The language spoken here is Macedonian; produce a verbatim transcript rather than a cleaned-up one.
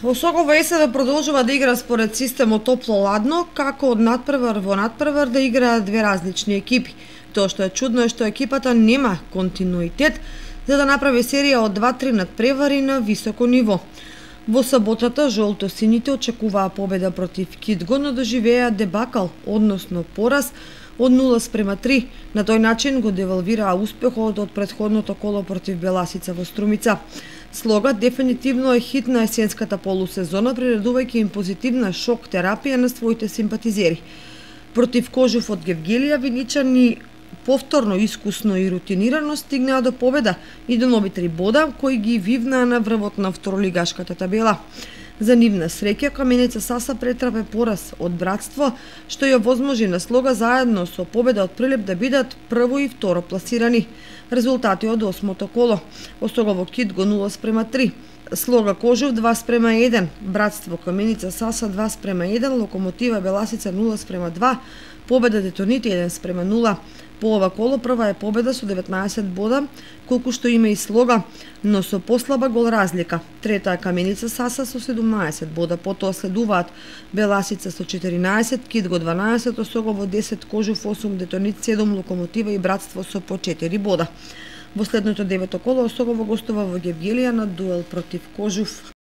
Осогово ЕСВ продолжува да игра според системот топло-ладно, како од надпревар во надпревар да играат две различни екипи. Тоа што е чудно е што екипата нема континуитет за да направи серија од два-три надпревари на високо ниво. Во саботата жолто-сините очекуваа победа против Кидго, но доживеа дебакал, односно пораз од нула спрема три. На тој начин го девалвираа успехот од претходното коло против Беласица во Струмица. Слога дефинитивно е хит на есенската полусезона, приредувајќи им позитивна шок терапија на своите симпатизери. Против Кожуф од Гевгелија виничани повторно искусно и рутинирано стигнаа до победа и до нови три бода кои ги вивнаа на врвот на второлигашката табела. За нивна среќа, Каменица Саса претрпе пораз од Братство, што ја возможи на Слога заедно со победа од Прилеп да бидат прво и второ пласирани. Резултати од осмото коло: Осогово Кидго нула спрема три, Слога Кожув два спрема еден, Братство Каменица Саса два спрема еден, Локомотива Беласица нула спрема два, победа Детоните еден спрема нула. По ова коло прва е победа со деветнаесет бода, колку што има и Слога, но со послаба гол разлика. Трета е Каменица Саса со седумнаесет бода, потоа следуваат Беласица со четиринаесет, Кидго дванаесет, Осогово десет, Кожув осум, Детонит седум, Локомотива и Братство со по четири бода. Во следното девето коло Осогово гостува во Гевгелија на дуел против Кожув.